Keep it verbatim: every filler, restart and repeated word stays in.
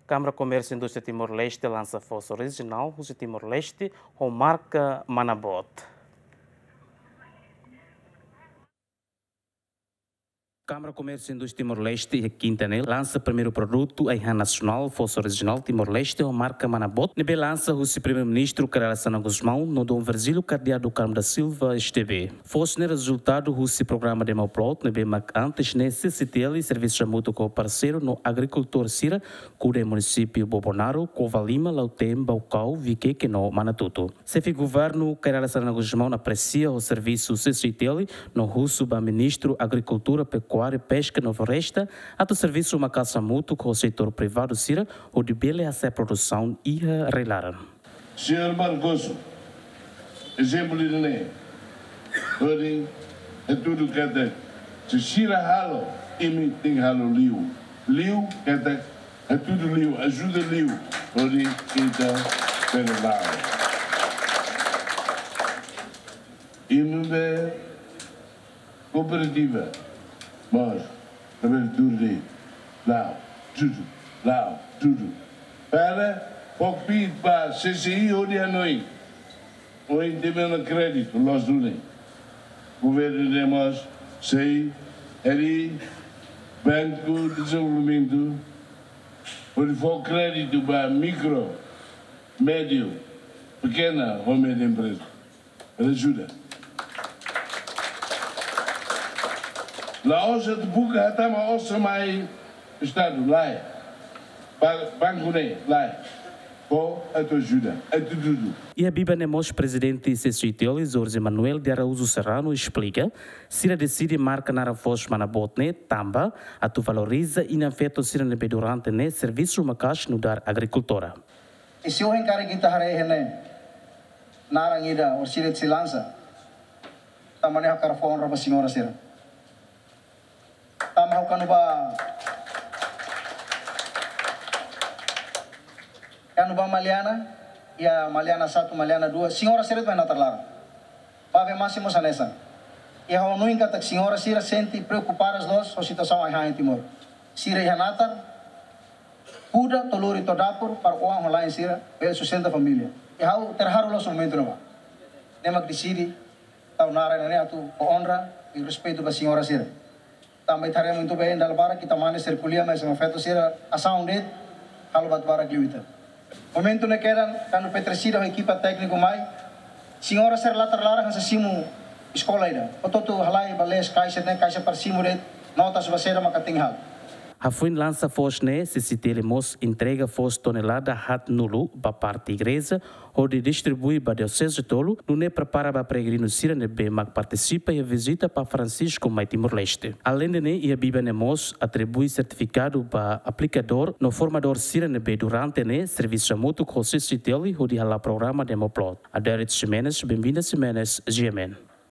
Kámara Komérsiu Indústria Timor-Leste lansa foos orijinál husi Timor-Leste ho marka Manabot. Kámara Komérsiu Indústria Timor-Leste iha kinta ne'e lansa primeiru produtu ai-han nasionál foos orijinál Timor-Leste ho marka Manabot ne'ebé lansa husi Primeiru-Ministru Kay Rala Xanana Gusmão no Dom Virgílio Cardeal do Carmo da Silva, S T B. Foos ne'e rezultadu husi programa Demoplot ne'ebé mak antes ne'e C C T L servisu hamutuk ho parseiru no agrikultór sira kuda iha munisípiu Bobonaro, Covalima, Lautém, Baucau, Viqueque no Manatuto. Xefe Governu Kay Rala Xanana Gusmão apresia ho servisu C C T L no husu ba Ministru Agrikultura, Pekuária, Peska no Floresta atu servisu maka'as hamutuk ho setór privadu sira hodi bele hasa'e produsaun iha rai-laran. Señór Barroso, ezemplu ida-ne'e hodi hatudu katak se sira halo, imi tenke halo liu. Liu katak hatudu liu, ajuda liu hodi ita bele la'o. Imi be kooperativa mós, labele tuur de'it, la'o, tudu, la'o, tudu. Para fó kbiit ba C C I hodi hanoin. Ohin temi ona kréditu loos duni. Governu ne'e mós sei harii Banku Dezenvolvimentu hodi fó kréditu ba mikro, médiu, pekena ho média empreza. Ajuda. La'ós atu buka hatama osan mai Estadu, lae. Ba-, banku ne'e, lae. Fó atu ajuda, atu dudu. Iha biban ne'e mós Prezidente C C T L, Jorge Manuel de Araújo Serrano, esplika, sira deside marka naran foos Manabot ne'e tanba atu valoriza inan-feton sira ne'ebé durante ne'e servisu maka'as nu'udar agrikultór. I se ohin karik ita haree iha ne'e naran ida orsida sei lansa, tanba ne'e ha'u hakarak fó onra ba señora sira. Tanba ha'u kuandu bá, kuandu bá Maliana, iha Maliana satu, Maliana dua, señora sira atu iha natar laran. Bá be masi mós hanesan. I ha'u hanoin katak señora sira sente preokupadas loos ho situasaun ai-han iha Timor. Sira iha natar, kuda to'o lori to'o dapur para oan ho la'en sira bele sustenta família. I ha'u terharu loos momentu ne'ebá. Ne'e mak deside tau naran ne'e atu fó onra i respeitu ba señora sira. Tanba ita haree momentu be dala barak ita mane sira ko'alia, mas inan-feton sira asaun de'it, halo buat barak liu ita. Momentu ne'e kedan, kuandu Petricida ho ekipa tékniku mai, señora sira natar laran hanesan simu eskola ida. Hotu-hotu halai ba lees kaixa ne'e, kaixa para simu de'it, notas ba saida maka tenke halo. Hafoin lansa foos ne'e, C C T L mós entrega foos tonelada haatnulu ba parte igreja, hodi distribui ba dioseze tolu, nune'e prepara ba peregrinu sira ne'ebé mak partisipa iha vizita Papa Francisco mai Timor-Leste. Aleinde ne'e, iha biban ne'e mós atribui sertifikadu ba aplikadór no formadór sira ne'ebé durante ne'e servisu hamutuk ho C C T L hodi hala'o programa Demoplot. Adérito Ximenes, Benvinda Ximenes, G M N.